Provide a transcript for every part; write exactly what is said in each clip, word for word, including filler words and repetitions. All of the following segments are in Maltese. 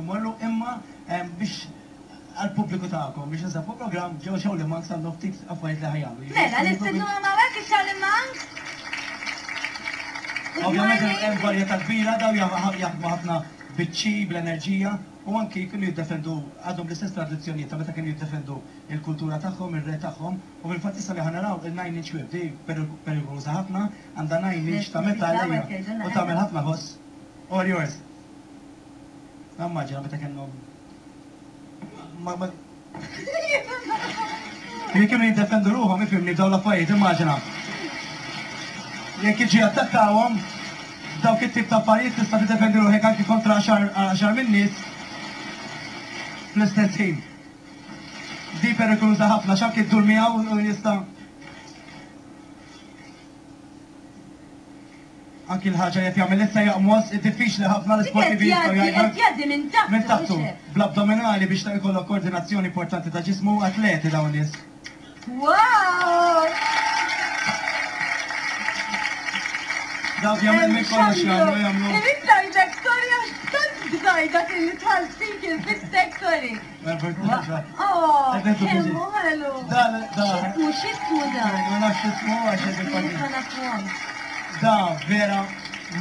Morru imma biex għal-pubbliku tagħkom biex nsabu program ġew Shaolin Monks għandhom ftit affarijiet li ħa jagħmlu. Mela, nistednu hawnhekk ix-Shaolin Monks? Ovvjament hemm varjetà kbira, daw jaħdmu ħafna biċ-chi, bl-enerġija, u anki kienu jiddefendu, għadhom l-istess tradizzjonijiet ta' meta kienu jiddefendu il-kultura tagħhom, ir-re tagħhom, u fil-fatt issa li ħa naraw il-nine inch whip, di perikoluża ħafna, għandha nine inch ta' metal u tagħmel ħafna ħoss. All yours. Immaġina meta kellhom Jekk kienu jiddefendu ruħhom, ifhimni, b'dawn l-affarijiet, immaġina. Jekk jiġi attakkawhom, dawk it-tip ta' affarijiet tista' tiddefendi ruħek anki kontra għaxar minn nies fl-istess ħin. Di perikoluża ħafna, x'anki ddur miegħu u jista' anki l-ħaġa li qed jagħmel issa jaqmos, diffiċli ħafna l-isportivi jistgħu jgħidu. Qed jgħaddi minn taħtu. Minn taħtu, bl-abdominali biex ta' jkollok koordinazzjoni importanti ta' ġismu, atleti dawn nies. Wow! Dawk jagħmel minn kollox jagħmlu jagħmlu. Irrid ngħidlek storja tant bżaj dak li tħall fik il-fistek, sorry. Oh, kemmu ħelu. Dan, dan. X'ismu, x'ismu dan? Ma nafx x'ismu għax qed Ma nafuhomx. Da vera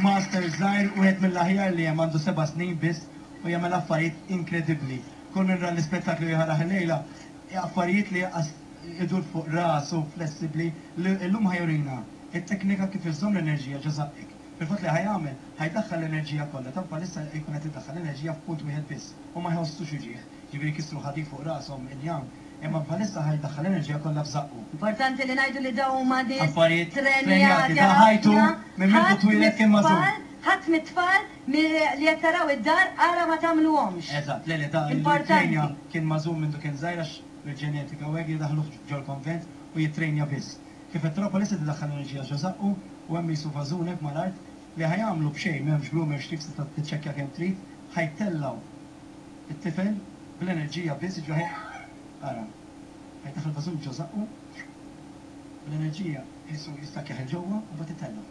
master żgħir, wieħed mill-aħjar li hemm, għandu seba' snin biss u jagħmel affarijiet inkredibbli. Kull min ra l-ispettaklu jħaraħ illejla, affarijiet li idur fuq rasu flessibbli, illum ħa jurina it-teknika kif iżżomm l-enerġija ġo żaqqek. Fil-fatt li ħa jagħmel, ħa jdaħħal l-enerġija kollha, ta' bħalissa jkun qed idaħħal l-enerġija f'punt wieħed biss u ma jħossux uġigħ. Ġifieri kisru ħadid fuq rashom injam, imma bħalissa ħa jdaħħal l-enerġija kollha f'żaqqu. Importanti li ngħidu li dawn huma nies affarijiet trenjati da ħajtu minn mindu twieled kien mażum. Ħadd mit-tfal li qed taraw id-dar ara ma tagħmluhomx. Eżatt, le le da Importanti. Kien mażum mindu kien żgħir għax bil-ġenetika u hekk jidaħluh ġol-konvent u jittrejnja biss. Kif qed taraw bħalissa tidaħħal l-enerġija ġo żaqqu u hemm jisu vażunek mal-art li ħa jagħmlu b'xejn, m'hemmx glue, m'hemmx tricks, tista' tiċċekkja kemm trid, ħa jtellgħu it-tifel bl-enerġija biss, ġo ara. Ħa jdaħħal vażun ġo żaqqu bl-enerġija jisu jistakjaħ il ġewwa u mbagħad itellgħu.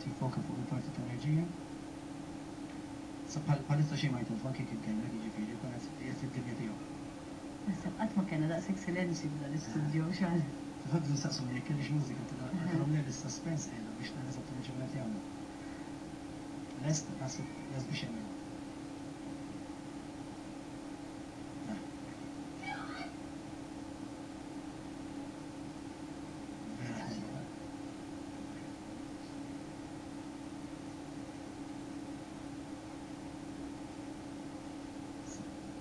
Tiffoka fuq il-parti ta' enerġija. Sa bħalissa xejn ma jtilfu anke kif kellek, jiġifieri jkun qed qiegħed fid-dinja tiegħu. Naħseb qatt ma kellna daqshekk silenzju f'dan l-istudio x'għal. Fil-fatt nistaqsuni jekk kellix mużika tilhom le l-suspense qiegħda biex nara eżattament x'inhu qed jagħmlu. Lest, naħseb lest biex jagħmel. Vera ħelwa.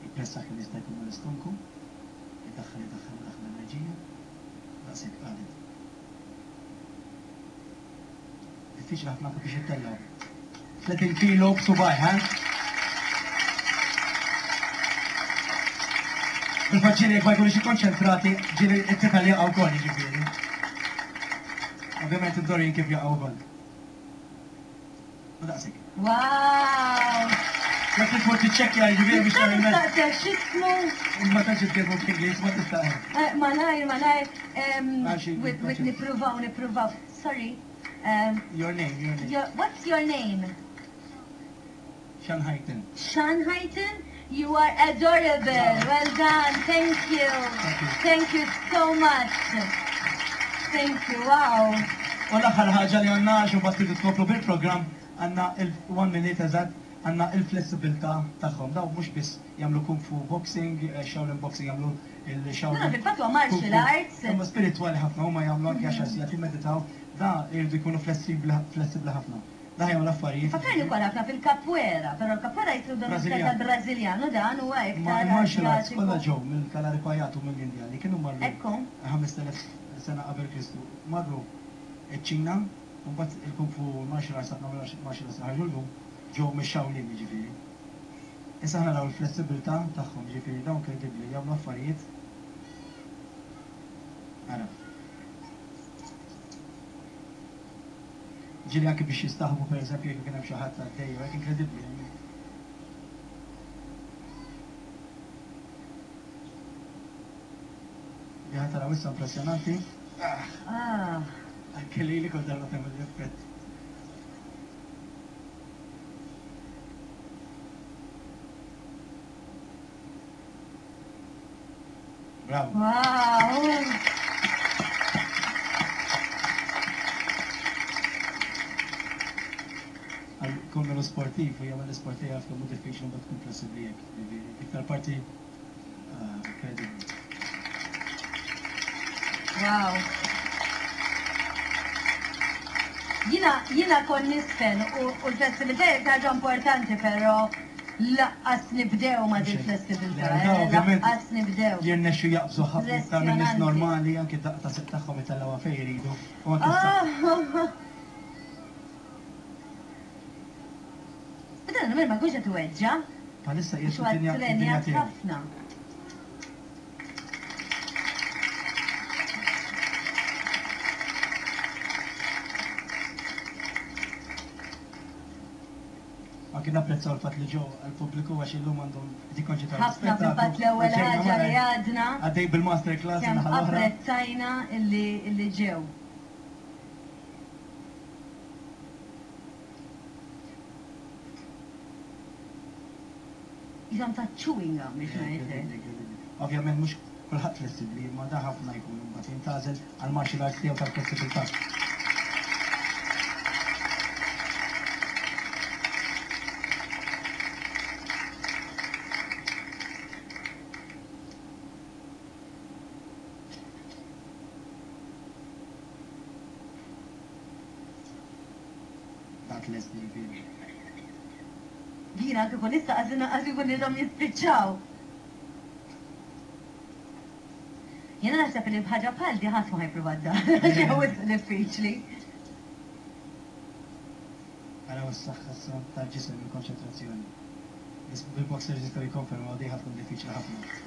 Jippressa kemm jista' jkun mal-istonku, idaħħal, idaħħal, idaħħal l-enerġija, daqshekk qalet. Diffiċli ħafna anke biex jittellgħu. tletin kilo b'subaj, ha? Fil-fatt ġieli jekk ma jkunux ikkonċentrati, ġieli t-tifel jaqa' wkoll, jiġifieri. Ovvjament id-dorin kif jaqgħu wkoll. U daqshekk. Wow! Jekk trid tmur tiċċekkja, jiġifieri biex Nista' tagħmel. nistaqsek x'ismu? Ma tantx jitkellmu bl-Ingliż, ma tista'. Eh, Malajr, malajr, em, Għax with, with nippruvaw, nippruvaw. Sorry. Um, Your name, your name. your, what's your name? Shan Hayton. Shan Hayton? You are adorable. Well done. Thank you. Thank you. Thank you so much. Thank you. Wow. U l-aħħar ħaġa li għandna għax imbagħad tridu tkomplu bil-programm, għandna il-one minute eżatt, għandna il-flessibilità tagħhom. Daw mhux biss jagħmlu kung fu boxing, eh, Shaolin boxing, jagħmlu il-Shaolin. No, fil-fatt huwa martial kung fu. arts. Huma spiritwali ħafna, huma jagħmlu anke għaxar sigħat jimmeditaw, da jridu jkunu flessibbli flessibbli ħafna. Da jagħmlu affarijiet. Fakkarni wkoll ħafna fil-capoeira, però l-capoeira jitlu dan Brażiljan. tal-Brażiljan u dan huwa Ma iktar il-martial arts Asjatiku. kollha ġew mill-Kalaripayattu mill-Indja li kienu marru Ekku. ħamest elef sena qabel Kristu. Marru iċ-Ċina, u mbagħad il-Kung Fu martial arts, ħafna martial arts ħarġu llum ġew mix-Shaolin jiġifieri. Issa aħna naraw il-flessibilità tagħhom, jiġifieri dawn inkredibbli jagħmlu affarijiet. Ara. Ġieli anke biex jistaħbu pereżempju jekk kien hemm xi ħadd għaddej, hekk inkredibbli. Li ħa taraw issa impressjonanti. Ah. Anke li li kull darba tagħmel l-effett. Bravo. Wow! Kull minu sportiv u jagħmel l-isport jaf kemm hu diffiċli mbagħad tkun flessibbli hekk. Jiġifieri iktar parti incredibbli. Wow. Jiena, jiena kon nisfen u u l-flessibilità hija ħaġa importanti, però lanqas nibdew ma' din flessibilità. Le, eh, ovvjament. Lanqas nibdew. Jirnexxu jaqbżu ħafna iktar minn nies Impressjonanti. normali, anke daqqa ta' seq tagħhom itellgħuha fejn jridu. U anke s-saħħa. Ah! Dan ma jkunx qed iweġġa'. Bħalissa Għax qiegħed huwa fid-dinja fid-dinja ttrenjat tiegħu. ħafna. Anke napprezzaw il-fatt li ġew għall-pubbliku għax illum għandhom qed jikkonċentraw Ħafna fil-fatt l-ewwel ħaġa li għadna Għaddej bil-master class kemm in-naħa l-oħra. apprezzajna illi illi ġew. Jisam ta' chewing gum biex ngħidlek. Ovvjament mhux kulħadd flessibbli, imma da ħafna jkun imbagħad jintgħażel għal martial arts tiegħu tal-flessibilità. Dak lest li jiġifieri. Jiena kieku nista' qas ikun ilhom jispiċċaw. Jiena naħseb li b'ħaġa bħal di ħadd ma ħajpruva d-dar, għax wisq diffiċli. Araw is-saħħa issa tal-ġisem il-konċentrazzjoni. Bil-boxers jistgħu jikkonfermaw di ħa tkun diffiċli ħafna.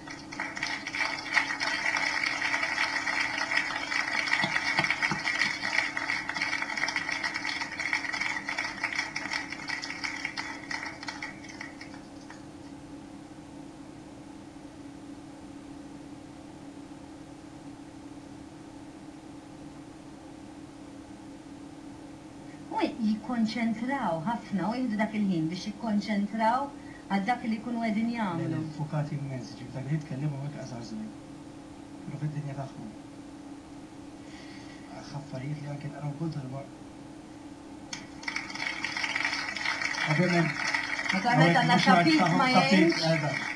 U jikkonċentraw ħafna u jieħdu dak il-ħin biex jikkonċentraw għal dak li jkunu qegħdin jagħmlu. Fukati immens, ġifieri dak li jitkellmu hekk qasar żmien. Kienu fid-dinja tagħhom. Affarijiet li anke naraw kull darba. Ovvjament. Naturalment għandna tapit ma jgħinx. Eżatt.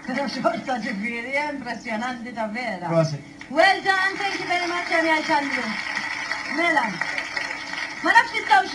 Però xorta ġifieri, impressjonanti ta' vera. Prosit. Well done, thank you very much, Amy Alexandru. Mela. Ma nafx nistgħux